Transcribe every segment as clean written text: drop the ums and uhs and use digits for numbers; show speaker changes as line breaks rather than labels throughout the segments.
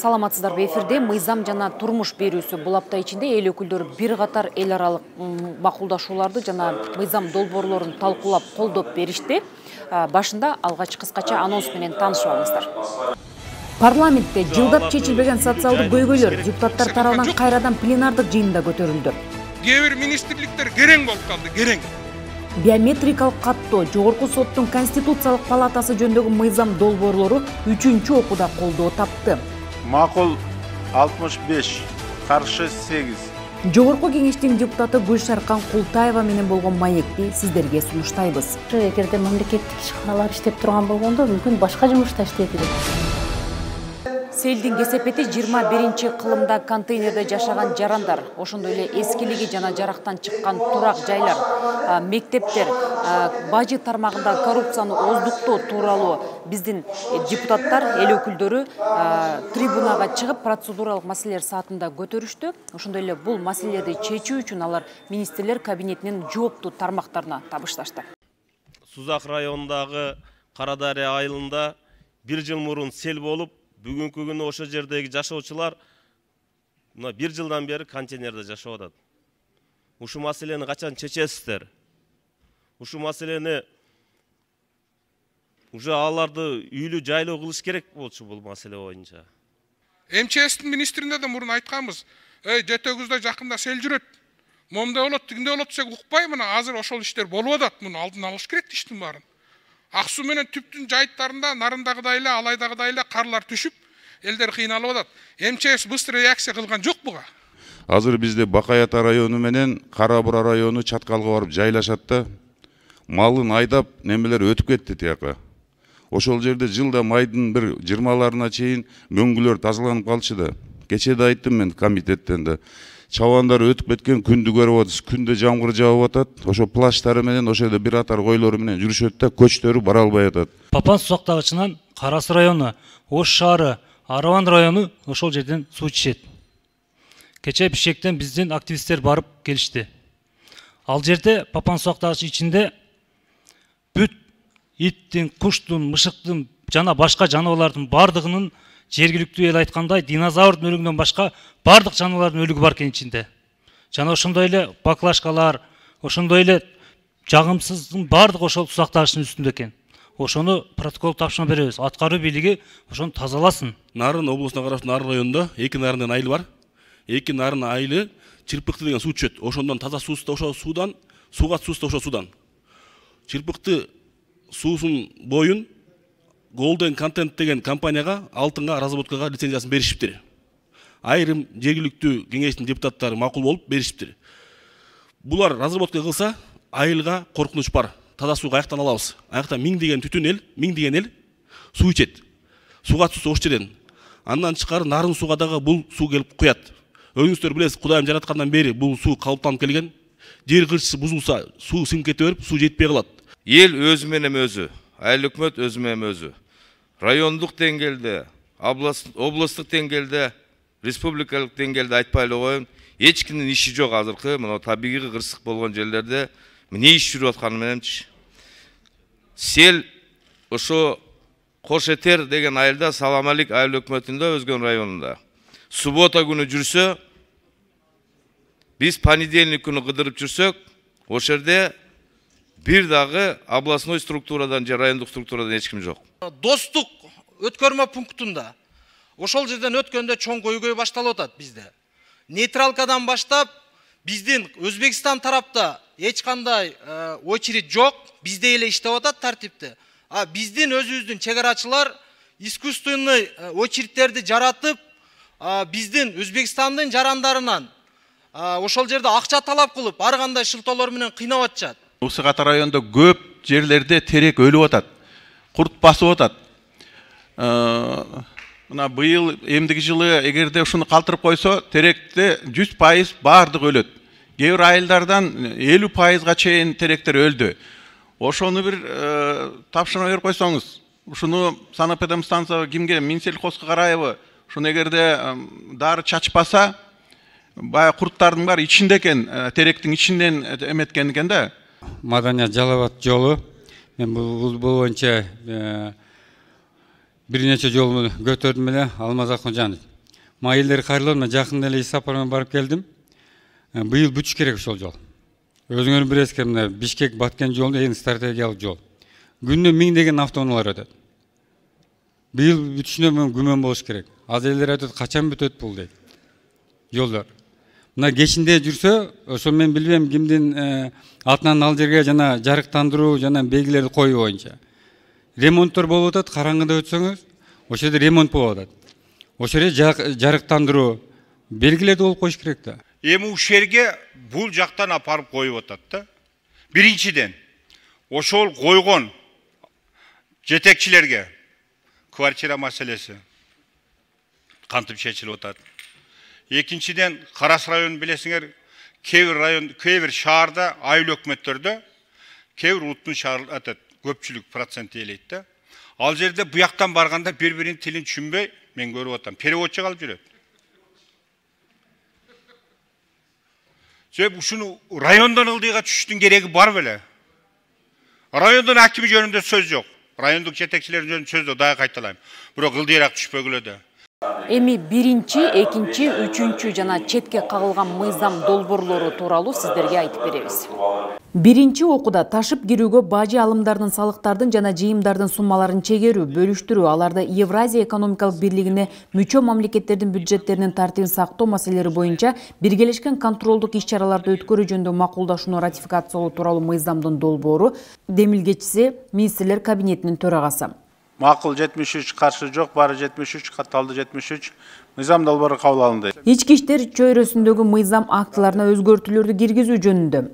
Саламатсыздарбы, эфирде мыйзам жана турмуш берүүсү. Бул апта ичинде эл өкүлдөрү бир катар эл аралык макулдашууларды жана мыйзам долбоорлорун талкуулап колдоп беришти. Башында алгач кыскача анонс менен таанышып алыңыздар. Парламентте жылдап чечилбеген социалдык көйгөйлөр депутаттар тарабынан кайрадан пленардык жыйында көтөрүлдү.
Кээ бир министрликтер керең болуп калды, керең.
Биометрикалык каттоо Жогорку соттун Конституциялык палатасы жөнүндөгү мыйзам долбоорлору 3-чү окууда колдоо тапты.
Макул 65, каршы 8.
Жогорку кеңештин депутаты Гүлшаркан Култаева менен болгон маекти сиздерге сунуштайбыз.
Эгерде мамлекеттик ишканалар иштеп турган болгондо мүмкүн башка жумушта иштейт элек.
Селдин кесепети 21-кылымда контейнерде жашаган жарандар, ошондой эле эскилиги жана жарактан чыккан турак жайлар, мектептер, бажы тармагында коррупцияны оздуктоо тууралуу биздин депутаттар, эл өкүлдөрү трибунага чыгып процедуралык маселелер саатында көтөрүштү. Ошондой эле бул маселелерди чечүү үчүн алар министрлер кабинетинин жооптуу тармактарына табышташты.
Сузак районундагы Кара Дарыя айылында 1 жыл мурун сел болуп, бүгүнкү күнү ошо жердеги жашоочулар мына 1 жылдан бери контейнерде жашап атат. Ушу маселени качан чечесиздер? Ушу маселени уже аларды үйлүү жайлуу кылыш керек болчу бул маселе боюнча.
МЧСтин министрине да мурун айтканбыз. Жетөгүздө жакында сел жүрөт. Момда болот, тигинде болот десек укпай, мына азыр ошол иштер болуп атат. Муну алдын алыш керек иштин баарын. Ак суу менен түптүн жайыттарында нарындагыдай эле, алайдагыдай эле карлар түшүп, элдер кыйналып атат. МЧС быстрый реакция кылган жок буга.
Азыр бизде Бакай Ата району менен Кара Бура району чаткалга барып жайлашат да, малын айдап немелер өтүп кетти тияка. Ошол жерде жылда майдын бир 20-ларына чейин мөңгүлөр тазаланып калчу да. Кече да айттым мен комитеттен да. Чабандар өтүп кеткен күндү көрүп атабыз. Күндө жамгыр жаап атат. Ошо плащтары менен ошо жерде бир атар койлору менен жүрүшөт да, көчтөрү бара албай атат.
Папан сузактагычынан Карасы району, Ош шаары, Араван району ошол жерден суу ичет. Кече Бишкектен биздин активисттер барып келишти. Ал жерде Папан сузактагыч ичинде бүт иттин, куштун, мышыктын жана башка жаныбарлардын бардыгынын жергиликтүү эл айткандай динозаврдын өлүгүнөн башка бардык жаныбарлардын өлүгү бар экен ичинде. Жана ошондой эле баклажкалар, ошондой эле жагымсыздын бардыгы ошол сузактагычтын үстүндө экен. Ошону протокол тапшырма беребиз. Аткаруу бийлиги ошону тазаласын.
Нарын облусуна караштуу Нарын районунда 2 нарын айыл бар. 2 нарын айылы Чырпыкты деген суу түшөт. Ошондон таза суусу ошол суудан, сууга суусу ошол суудан. Чырпыкты суусун боюн Golden Content деген компанияга алтынга разработкага лицензиясын беришиптир. Айрым жергиликтүү кеңештин депутаттары макул болуп беришиптир. Булар разработка кылса, айылга коркунуч бар. Таза суу каяктан алабыз? Аякта миңдеген түтүн эл, миңдеген эл суу ичет. Сууга түсү ош жерден. Андан чыкары нарын сууга дагы бул суу келип куят. Өзүңүздөр билесиз, Кудайым жараткандан бери бул суу калыптанып келген. Жер кырчысы бузулса, суу сиңип кете берип, суу жетпей калат.
Ел өзү менен өзү, айыл өкмөт өзү менен өзү. Райондук деңгээлде, облустук деңгээлде, республикалык деңгээлде айтпай эле коеюн, эч кимдин иши жок азыркы мына табигый кырсык болгон жерлерде эмне иш жүрүп атканы мененчи. Сел ошо Кош Этер деген айылда Саламалик айыл өкмөтүндө Өзгөн районунда. Суббота күнү жүрсө, биз понедельник күнү кыдырып жүрсөк, ошол жерде бир дагы областной структурадан же райондук структурадан эч ким жок.
Достук өткөрмө пунктунда ошол жерден өткөндө чоң көйгөй башталып атат бизде. Нейтралкадан баштап биздин Өзбекстан тарапта эч кандай очередь жок, бизде эле иштеп атат тартипте. Биздин өзүбүздүн чегарачылар искусственный очередтерди жаратып, биздин Өзбекстандын жарандарынан ошол жерде акча талап кылып, ар кандай шылтоолор менен кыйнап атышат.
Осы ката районда көп жерлерде терек өлүп атат. Курт басып атат. Мына быйыл эмдиги жылы эгерде ушуну калтырып койсо, теректе 100% бардык өлөт. Кээ бир айылдардан 50%га чейин теректер өлдү. Ошону бир тапшырма берип койсоңуз, ушуну санэпидемстанция кимге, Минсельхозго карайбы? Ушуну эгерде дары чачпаса, баягы курттардын баары ичинде экен, теректин ичинден эметкен экен да.
Маданият Жалалабад жолу. Мен бул боюнча бир нече жол көтөрдүм эле. Алмаз Акмажанов Майылдар кайрылып, мен жакында эле иш сапар менен барып келдим. Быйыл бүтүш керек ошол жол. Өзүңөр билесиздер, мына Бишкек Баткен жолу эң стратегиялык жол. Күнүнө миңдеген автоунаалар өтөт. Быйыл бүтүшүнө мен күмөн болуш керек. Аз элдер айтат, качан бүтөт бул дейт. Жолдор. Мына кечинде жүрсө, ошо мен билбейм кимдин атынан ал жерге жана жарыктандыруу жана белгилерди коюу боюнча. Ремонттор болуп атат, караңгыда өтсөңүз, ошол жерде ремонт болуп атат. Ошол жерде жарыктандыруу белгилерди болуп коюш керек да.
Эми ушерге бул жактан апарып коюп атат да. Биринчиден, ошол койгон жетекчилерге квартира маселеси кантип чечилип атат. Экинчиден, Карас районун билесиңер, кээ бир шаарда, айыл өкмөттөрдө, кээ бир улуттун шаар атат, көпчүлүк процент ээлейт да. Ал жерде буяктан барганда бири-биринин тилин түшүнбөй, мен көрүп атам, переводчу калып жүрөт. Себеп ушуну райондон ылдыйга түшүштүн кереги бар беле? Райондун акими жөнүндө сөз жок. Райондук жетекчилер жөнүндө сөз жок, дагы кайталайм. Бирок ылдыйраак түшпөгүлө да.
Эми биринчи, экинчи, үчүнчү жана четке кагылган мыйзам долбоорлору тууралуу сиздерге айтып беребиз. Биринчи окууда ташып кирүүгө бажы алымдардын, салыктардын жана жыйымдардын суммаларын чегерүү, бөлүштүрүү, аларды Евразия экономикалык бирлигине мүчө мамлекеттердин бюджеттеринин тартибин сактоо маселелери боюнча биргелешкен контролдук иш-чараларды өткөрүү жөнүндө макулдашууну ратификациялоо тууралуу мыйзамдын долбоору демилгечиси министрлер кабинетинин төрагасы.
Макул 73, каршы жок, бары 73, катталды 73. Мыйзам долбоору кабыл алынды.
Ички иштер чөйрөсүндөгү мыйзам актыларына өзгөртүүлөрдү киргизүү жөнүндө,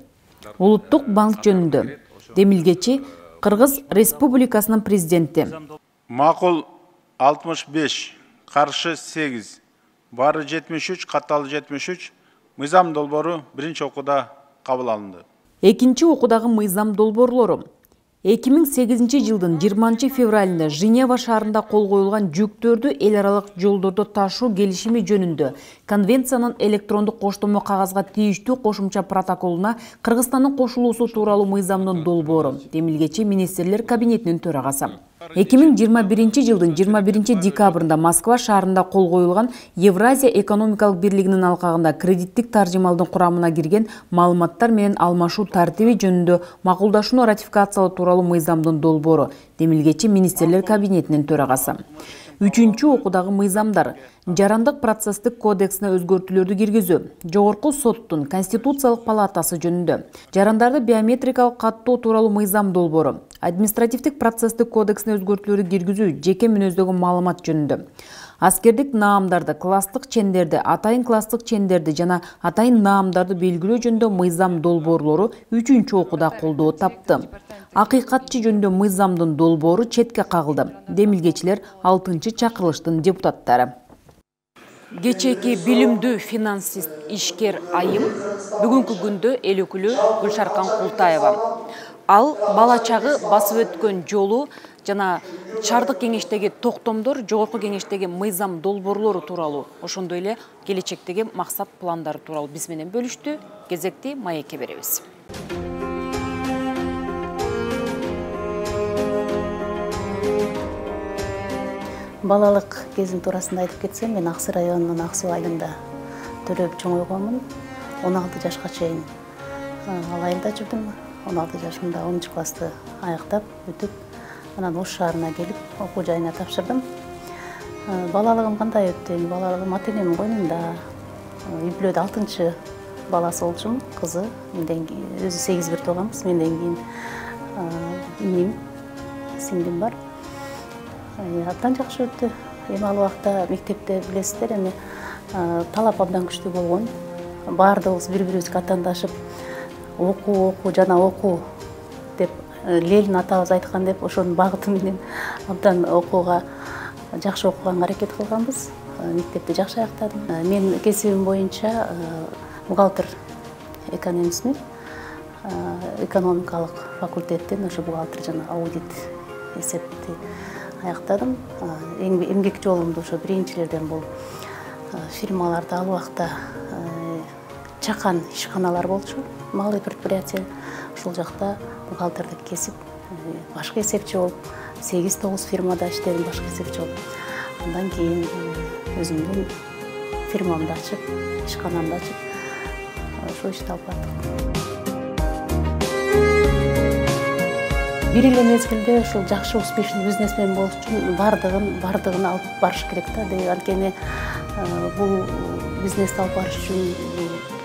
улуттук банк жөнүндө демилгечи Кыргыз Республикасынын президенти.
Макул 65, каршы 8, бары 73, катталды 73. Мыйзам долбоору биринчи окууда кабыл алынды.
Экинчи окуудагы мыйзам долбоорлору 2008 жылдын 20 февралында Женева шаарында кол коюлган жүктөрдү эл аралык жолдордо ташуу келишими жөнүндө конвенциянын электрондук коштомо кагазга тийиштүү кошумча протоколуна Кыргызстандын кошулуусу тууралуу мыйзамдын долбоору демилгечи министрлер кабинетинин төрагасы. 2021 жылдын 21 декабрында Москва шаарында кол коюлган Евразия экономикалык бирлигинин алкагында кредиттик таржымалдын курамына кирген маалыматтар менен алмашуу тартиби жөнүндө макулдашууну ратификациялоо тууралуу мыйзамдын долбоору демилгечи министрлер кабинетинин төрагасы. Үчүнчү окуудагы мыйзамдар жарандык процесстик кодексине өзгөртүүлөрдү киргизүү, жогорку соттун конституциялык палатасы жөнүндө, жарандарды биометрикалык каттоо тууралуу мыйзам долбоору, административдик процесстик кодексине өзгөртүүлөрдү киргизүү жеке мүнөздөгү маалымат жөнүндө, аскердик наамдарды, класстык чендерди, атайын класстык чендерди жана атайын наамдарды белгилөө жөнүндө мыйзам долбоорлору үчүнчү окууда колдоо тапты. Акыйкатчы жөнүндө мыйзамдын долбоору четке кагылды. Демилгечилер 6-чы чакырылыштын депутаттары. Кечээки билимдүү финансист ишкер айым бүгүнкү күндө эл өкүлү Гүлшаркан Култаева. Ал бала чагы басып өткөн жолу жана шаардык кеңештеги токтомдор, жогорку кеңештеги мыйзам долбоорлору тууралуу, ошондой эле келечектеги максат пландары тууралуу биз менен бөлүштү. Кезекти маекке беребиз.
Балалык кезим туурасында айтып кетсем, мен Аксы районунун Ак Суу айылында төрөп чоңойгонмун. 16 жашка чейин ал айылда жүрдүм. 16 жашымда 10 классты аяктап бүтүп, анан Ош шаарына келип окуу жайына тапшырдым. Балалыгым кандай өттү? Балалыгым ата-энемдин койнунда. Үй бүлөдө 6-чы баласы болчумун, кызы. Менден өзү 8 бир тууганбыз. Менден кийин иним, сиңдим бар. Абдан жакшы өттү. Эми ал убакта мектепте билесиздер, эми талап абдан күчтүү болгон. Баардыгыбыз бири-бирибизге аттандашып, окуу жана окуу деп Ленин атабыз айткан деп ошонун багыты менен абдан окууга, жакшы окуганга аракет кылганбыз. Мектепти жакшы аяктадым. Мен кесибим боюнча бухгалтер экономистмин. Экономикалык факультеттен ошо бухгалтер жана аудит эсепти аяктадым. Эмгек жолумду ошо биринчилерден бул фирмаларда ал убакта чакан ишканалар болчу, малый предприятие. Ушул жакта бухгалтердик кесип, башкы эсепчи болуп, 8-9 фирмада иштедим, башкы эсепчи болуп. Андан кийин өзүмдүн фирмамды ачып, ишканамды ачып, ошо ишти алып бардык. Бир эле мезгилде ушул жакшы успешный бизнесмен болуш үчүн бардыгын алып барыш керек да. Анткени бул бизнести алып барыш үчүн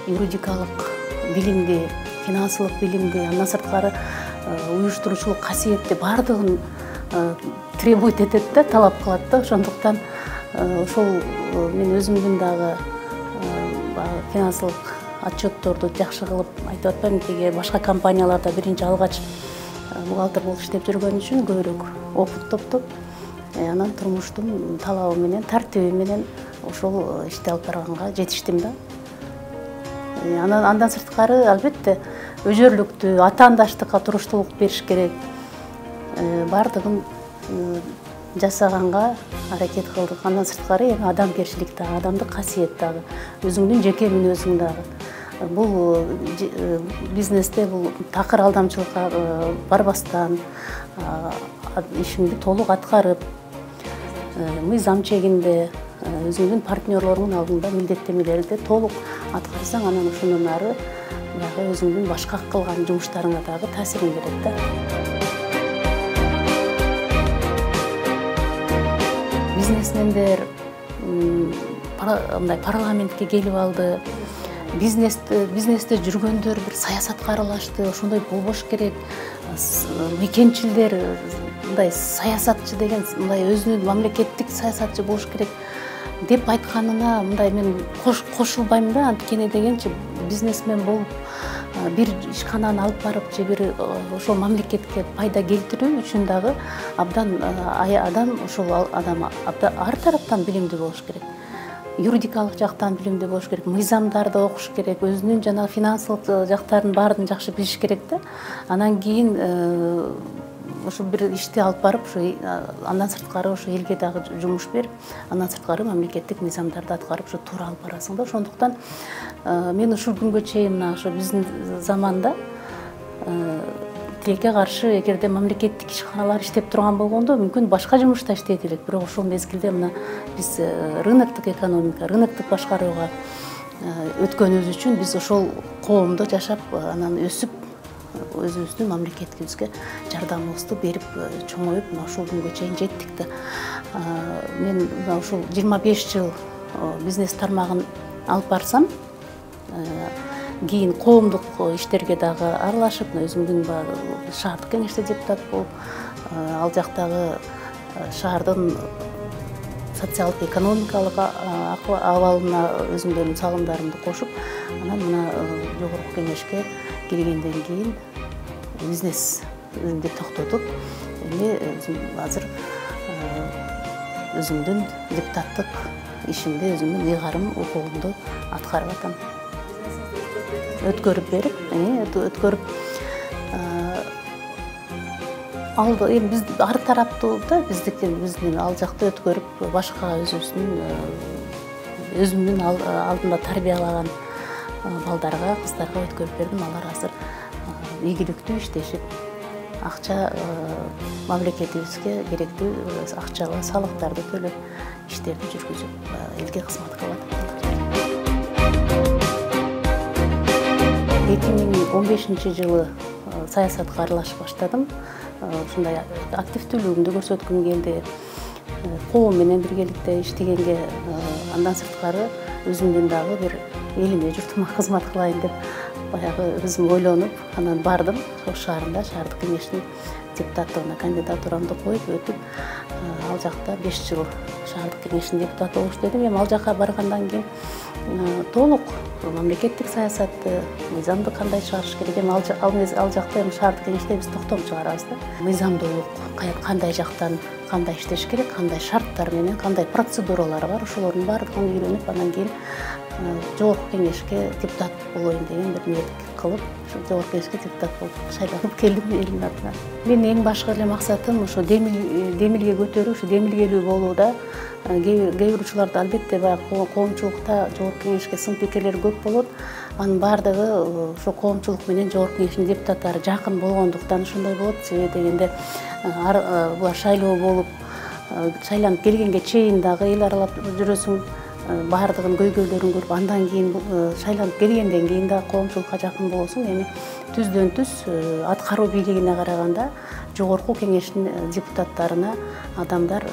юридикалык билимди, финансылык билимди, андан сырткары уюштуруучулук касиетти бардыгын требует этет да, талап кылат да. Ошондуктан ошол мен өзүмдүн дагы финансылык отчетторду жакшы кылып айтып атпаймынбы, тиги башка компанияларда биринчи алгач бухгалтер болуп иштеп жүргөн үчүн көбүрөөк опыт топтоп, анан турмуштун талабы менен, тартиби менен ошол ишти алып барганга жетиштим да. Андан сырткары албетте өжөрлүктү, атаандаштыкка туруштуулук бериш керек. Бардыгын жасаганга аракет кылдык. Андан сырткары эми адамгерчилик дагы, адамдык касиет дагы, өзүңдүн жеке мүнөзүң дагы. Бул бизнесте бул такыр алдамчылыкка барбастан, ишиңди толук аткарып, мыйзам чегинде, өзүңдүн партнерлоруңдун алдында милдеттемелерди толук аткарсаң, анан ошондон ары дагы өзүңдүн башка кылган жумуштарыңа дагы таасирин берет да. Бизнесмендер мындай парламентке келип алды. Бизнесте жүргөндөр бир саясатка аралашты, ошондой болбош керек. Мекенчилдер мындай саясатчы деген мындай өзүнүн мамлекеттик саясатчы болуш керек деп айтканына мындай мен кошулбайм да. Анткени дегенчи бизнесмен болуп бир ишкананы алып барып же бир ошол мамлекетке пайда келтирүү үчүн дагы абдан адам ошол адам ар тараптан билимдүү болуш керек. Юридикалык жактан билимдүү болуш керек, мыйзамдарды окуш керек, өзүнүн жана финансылык жактарын баарын жакшы билиш керек да. Анан кийин ошо бир ишти алып барып, ошо андан сырткары ошо элге дагы жумуш берип, андан сырткары мамлекеттик мыйзамдарды аткарып, ошо туура алып барасың да. Ошондуктан мен ушул күнгө чейин мына ошо биздин заманда тилекке каршы эгерде мамлекеттик ишканалар иштеп турган болгондо мүмкүн башка жумушта иштейт элек. Бирок ошол мезгилде мына биз рыноктук экономика, рыноктук башкарууга өткөнүбүз үчүн биз ошол коомдо жашап, анан өсүп, өзүбүздүн мамлекетибизге жардамыбызды берип, чоңоюп, мына ушул күнгө чейин жеттик да. Мен мына ушул 25 жыл бизнес тармагын алып барсам, кийин коомдук иштерге дагы аралашып, өзүмдүн шаардык кеңеште депутат болуп, ал жактагы шаардын социалдык экономикалык абалына өзүмдүн салымдарымды кошуп, анан мына жогорку кеңешке келгенден кийин бизнесимди токтотуп, эми азыр өзүмдүн депутаттык ишимди, өзүмдүн ыйгарым укугумду аткарып атам. Өткөрүп берип, өткөрүп алды. Эми биз ар тараптуу да, биздин ал жакта өткөрүп, башка өзүмдүн алдымда тарбиялаган балдарга, кыздарга өткөрүп бердим. Алар азыр ийгиликтүү иштешип, акча мамлекетибизге керектүү акчалуу салыктарды төлөп, иштерди жүргүзүп, элге кызмат кылып атат. 2015 жылы саясатка аралашып баштадым. Ушундай активдүүлүгүмдү көрсөткүм келди. Коом менен биргеликте иштегенге, андан сырткары өзүмдүн дагы бир элиме, журтума кызмат кылайын деп баягы өзүм ойлонуп, анан бардым. Ош шаарында шаардык кеңештин депутаттыгына кандидатурамды коюп өтүп, ал жакта 5 жыл шаардык кеңештин депутаты болуп иштедим. Эми ал жака баргандан кийин толук мамлекеттик саясатты, мыйзамды кандай чыгарыш керек, эми ал жакта эми шаардык кеңеште биз токтом чыгарабыз да. Мыйзамдуулук кандай жактан кандай иштеш керек, кандай шарттар менен, кандай процедуралар бар, ошолордун баардыгын үйрөнүп, анан кийин жогорку кеңешке депутат болоюн деген бир ниет кылып, жогорку кеңешке депутат болуп шайланып келдим элдин атынан. Менин эң башкы эле максатым ошо демилге көтөрүү, ошо демилгелүү болууда. Кээ бир учурларда албетте баягы коомчулукта жогорку кеңешке сын пикирлер көп болот. Анын баардыгы ошо коомчулук менен жогорку кеңештин депутаттары жакын болгондуктан ошондой болот. Себеби дегенде булар шайлоо болуп, шайланып келгенге чейин дагы эл аралап жүрөсүң. баардыгын көйгөйлөрүн көрүп андан кийин шайланып келгенден кийин да коомчулукка жакын болосуң, эми түздөн түз аткаруу бийлигине караганда жогорку кеңештин депутаттарына адамдар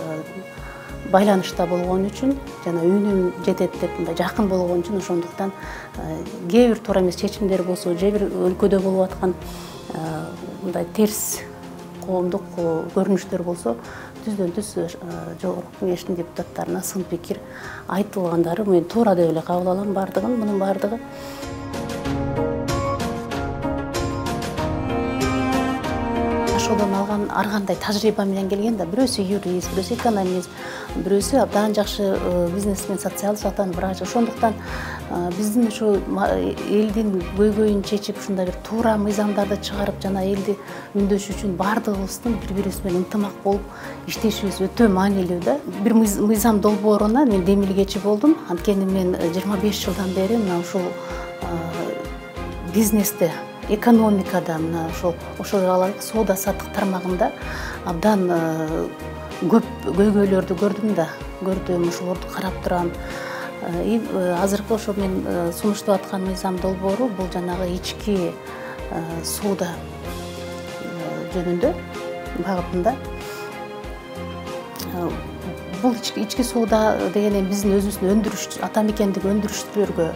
байланышта болгон үчүн жана үнүм жетет деп мындай жакын болгон үчүн ошондуктан кээ бир туура эмес чечимдер болсо, же бир өлкөдө болуп аткан мындай терс коомдук көрүнүштөр болсо түздөн түз жогорку кеңештин депутаттарына сын пикир айтылгандары мен туура деп эле кабыл алам баардыгын. Мунун баардыгы жашоодон алган ар кандай тажрыйба менен келген да, бирөөсү юрист, бирөөсү экономист, бирөөсү абдан жакшы бизнесмен, социалдык жактан врач. Ошондуктан биздин ушу элдин көйгөйүн чечип, ушундай бир туура мыйзамдарды чыгарып, жана элди үндөш үчүн баардыгыбыздын бири-бирибиз менен ынтымак болуп иштешибиз өтө маанилүү да. Бир мыйзам долбооруна мен демилгечи болдум. Анткени мен 25 жылдан бери мына ушул бизнесте, экономикада, мына ошол соода саттык тармагында абдан көп көйгөйлөрдү көрдүм, ошолорду карап турам. Азыркы ошо мен сунуштап аткан мыйзам долбоору бул жанагы ички соода жөнүндө багытында. Бул ички соода деген эми биздин өзүбүздүн өндүрүш, ата мекендик өндүрүшчүлөргө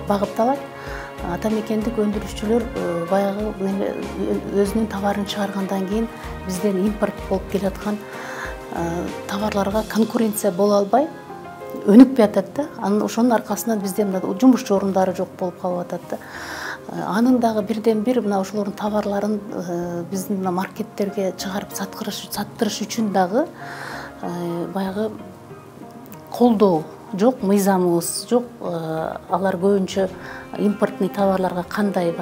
багытталат. Ата мекендик өндүрүшчүлөр баягы өзүнүн товарын чыгаргандан кийин бизден импорт болуп келаткан товарларга конкуренция боло албай өнүкпөй атат да. Ошонун аркасынан bizde жумуш орундары жок болуп калып атат да. Анын дагы бирден бир мына ошолордун товарларын биздин маркеттерге чыгарып саттырыш үчүн дагы баягы колдоо жок, мыйзамыбыз жок. Алар көбүнчө импортный товарларга кандай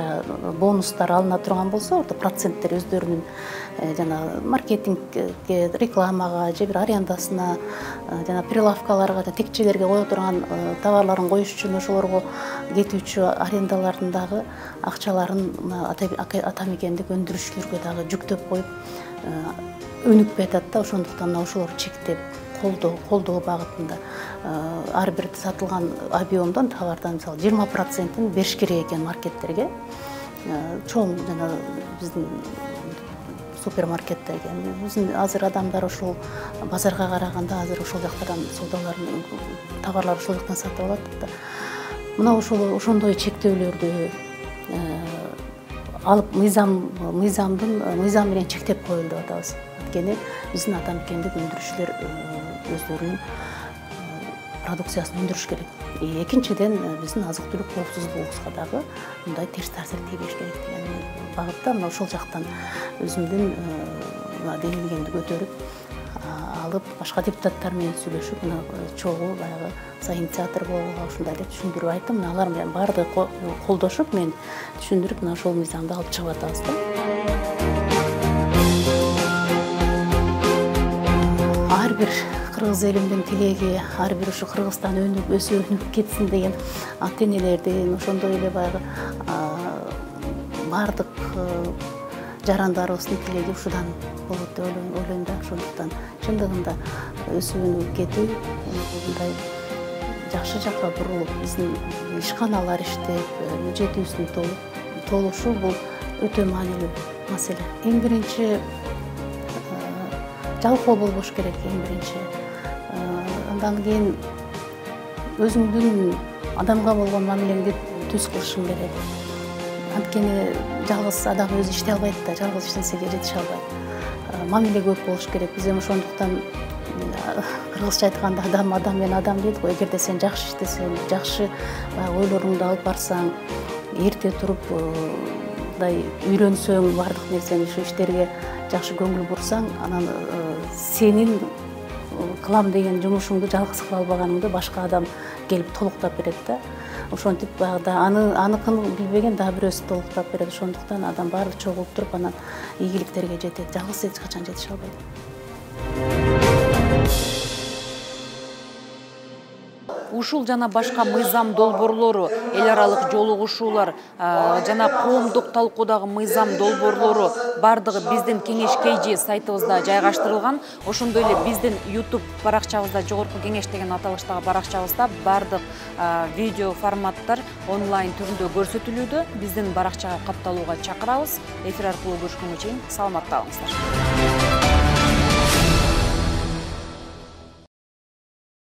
бонустар алына турган болсо, орто проценттер өздөрүнүн жана маркетингге, рекламага, же бир арендасына, жана прилавкаларга, текчелерге кое турган товарларын коюш үчүн ошолорго кетүүчү арендалардын дагы акчаларын ата мекендик өндүрүшчүлөргө дагы жүктөп коюп өнүкпөй атат да. Ошондуктан ошолорду чектеп колдоо багытында ар бир сатылган объемдон товардан мисалы 20%-ын бериш керек экен маркеттерге. Чоң жана биздин супермаркеттерге. Биздин азыр адамдар ошол базарга караганда азыр ошол жактардан соодаларын, товарларды ошол жактан сатып алат да. Мына ошондой чектөөлөрдү алып мыйзам менен чектеп коелу деп атабыз. Анткени биздин ата мекендик өндүрүшчүлөр өздөрүнүн продукциясын өндүрүш керек. Экинчиден биздин азык түлүк коопсуздугубузга дагы мындай терс таасир тийбеш керек деген багытта мына ошол жактан өзүмдүн демилгемди көтөрүп алып башка депутаттар менен сүйлөшүп мына чогуу баягы инициатор болууга ушундай деп түшүндүрүп айттым. Мына алар менен баардыгы колдошуп мен түшүндүрүп мына ошол мыйзамды алып чыгып атабыз да. Ар бир кыргыз элимдин тилеги, ар бир ушу Кыргызстан өнүгүп кетсин деген ата энелердин, ошондой эле баягы баардык жарандарыбыздын тилеги ушудан болот деп ойлойм да. Ошондуктан чындыгында өсүп өнүгүп кетүү, мындай жакшы жакка бурулуп, биздин ишканалар иштеп, бюджетибиздин толушу бул өтө маанилүү маселе. Эң биринчи жалкоо болбош керек, эң биринчи. Андан кийин өзүңдүн адамга болгон мамилеңди түз кылышың керек. Анткени жалгыз адам өзү иштей албайт да, жалгыз иштенсеге жетише албайт. Мамиле көп болуш керек. Биз эми ошондуктан кыргызча айтканда адам менен адам дейт го. Эгерде сен жакшы иштесең, жакшы ойлоруңду алып барсаң, эрте туруп мындай үйрөнсөң, баардык нерсени ушу иштерге жакшы көңүл бурсаң, анан сенин кылам деген жумушуңду жалгыз кыла албаганыңды башка адам келип толуктап берет да. Ошентип баягы аныкын билбеген дагы бирөөсү толуктап берет. Ошондуктан адам баары чогулуп туруп анан ийгиликтерге жетет. Жалгыз эч качан жетише албайт.
ушул жана башка мыйзам долбоорлору, эл аралык жолугушуулар жана коомдук талкуудагы мыйзам долбоорлору бардыгы биздин Кеңеш KG сайтыбызда жайгаштырылган. Ошондой эле биздин YouTube баракчабызда, Жогорку Кеңеш деген аталыштагы баракчабызда бардык видео форматтар онлайн түрүндө көрсөтүлүүдө. Биздин баракчага катталууга чакырабыз. Эфир аркылуу көрүшкөнгө чейин саламатта калыңыздар.